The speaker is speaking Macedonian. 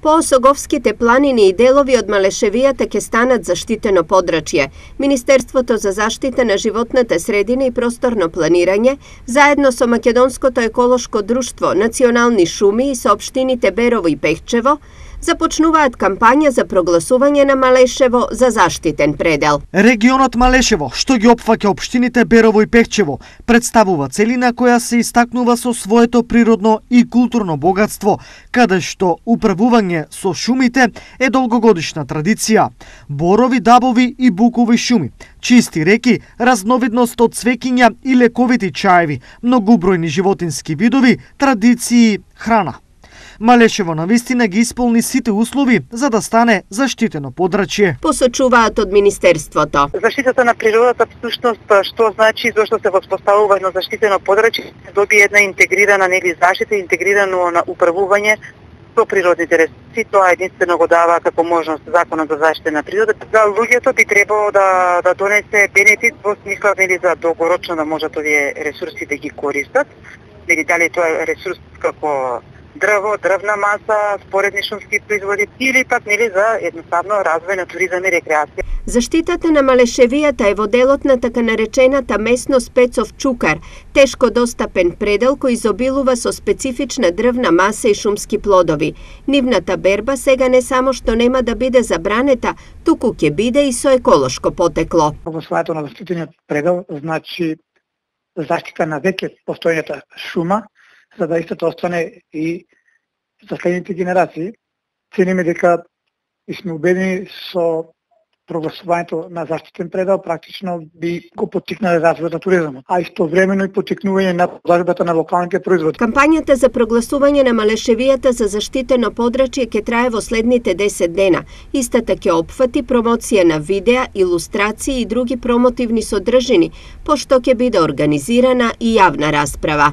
По Осоговските планини и делови од Малешевијата ќе станат заштитено подрачје. Министерството за заштита на животната средина и просторно планирање, заедно со Македонското еколошко друштво, национални шуми и со општините Берово и Пехчево, започнуваат кампања за прогласување на Малешево за заштитен предел. Регионот Малешево, што ги опфаќа општините Берово и Пехчево, представува целина која се истакнува со своето природно и културно богатство, каде што управување со шумите е долгогодишна традиција. Борови, дабови и букови шуми, чисти реки, разновидност од цвеќиња и лековити чаеви, многубројни животински видови, традиции, храна. Малешево навистина ги исполни сите услови за да стане заштитено подрачје. Посочуваат од Министерството. Заштитата на природата всушност што значи зошто се воспоставува едно заштитено подрачје, добие една интегрирана заштита, интегрирано на управување со природните ресурси. Тоа единствено го дава како можност законот за заштита на природата. Луѓето би требало да донесе бенефит во смисла за долгорочно да можат овие ресурси да ги користат. Дали тоа е ресурс како дрво, дрвна маса, споредни шумски производи или пак за едноставно развој на туризам и рекреација. Заштитата на Малешевијата е во делот на така наречената местност Пецов Чукар, тешко достапен предел кој изобилува со специфична дрвна маса и шумски плодови. Нивната берба сега не само што нема да биде забранета, туку ќе биде и со еколошко потекло. Прогласувањето на заштитениот предел значи заштита на веќе постојната шума, за да истото остане и за следните генерации. Цениме дека и сме убедени со прогласувањето на заштитен предел практично би го поттикнале развојот на туризмот, а истовремено и поттикнување на продажбата на локалните производи. Кампањата за прогласување на Малешевијата за заштитено подрачје ќе трае во следните 10 дена. Истата ќе опфати промоција на видеа, илустрации и други промотивни содржини, пошто ќе биде организирана и јавна расправа.